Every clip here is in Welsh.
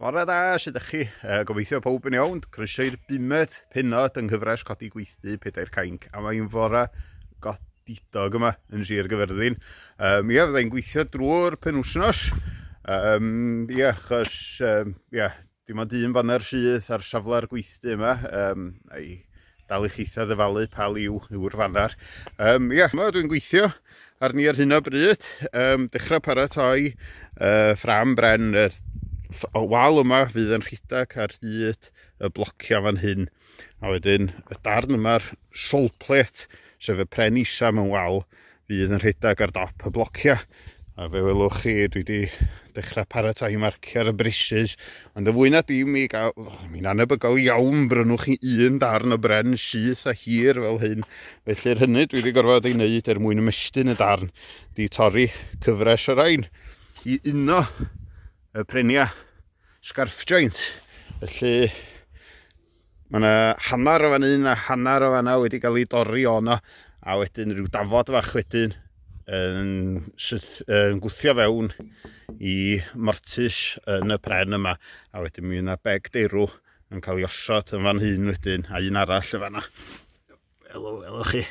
Bore da, sut ydych chi? Gobeithio pawb yn iawn. Croeso i'r bumed pennod yng nghyfres Codi Gweithdy Pedair Cainc. A mae'n fore godidog yma yn Sir Gyfyrddin. Ia, fyddai'n gweithio drwy'r penwythnos. Ia, achos ia, dim ond un faner sydd ar safle'r gweithdy yma. A'i dal i chitha ddyfalu pa liw yw'r faner. Ia, yma dwi'n gweithio arni ar hyn o bryd. Dechrau paratoi ffram bren yr wal yma fydd yn rhedeg ar hyd y blociau fan hyn. A wedyn y darn yma'r sole plate, sef y pren isa mewn wal, fydd yn rhedeg ar dop y blociau. A fe welwch chi, dwi wedi dechrau paratoi marcio ar y braces, ond y fwy na dim i gael, mi'n anebygol iawn brynwch chi un darn o bren syth a hir fel hyn. Felly'r hynny dwi wedi gorfod ei wneud er mwyn ymestyn y darn, di torri cyfres o rain i uno y prenia scarf joint. Felly mae yna hanner o fan hyn a hanner o fanna wedi cael ei dorri ono, a wedyn rhyw dafod fach wedyn yn gwthio fewn i mortis yn y pren yma, a wedyn mi yna beg derw yn cael ei osod yn fan hyn wedyn, a un arall yn fanna. Welwch chi.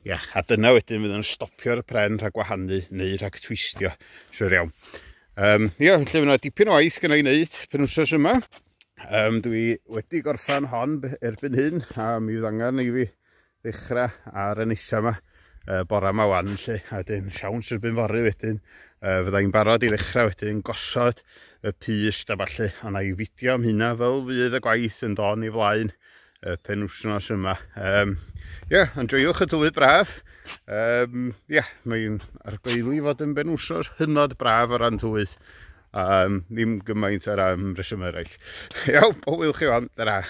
Ia, a dyna wedyn fydd yn stopio'r pren rhag gwahanu neu rhag twistio, siwr iawn. Ia, felly fydd yna dipyn o waith gynna i wneud penwythnos yma. Dwi wedi gorffan hon erbyn hyn, a mi fydd angen i fi ddechrau ar y nesa yma, bora yma wan, lle, a wedyn siawns erbyn fory wedyn, fyddai'n barod i ddechrau wedyn gosod y pyst a ballu, a na i fideo am hynna fel fydd y gwaith yn dod i flaen y penwythnos yma. Ia, enjoiwch y tywydd braf. Ia, mae'n argoeli fod yn benwythnos hynod braf o ran tywydd. Ddim gymaint ar am reswm eraill. Iawn, pob hwyl chi wan, tara.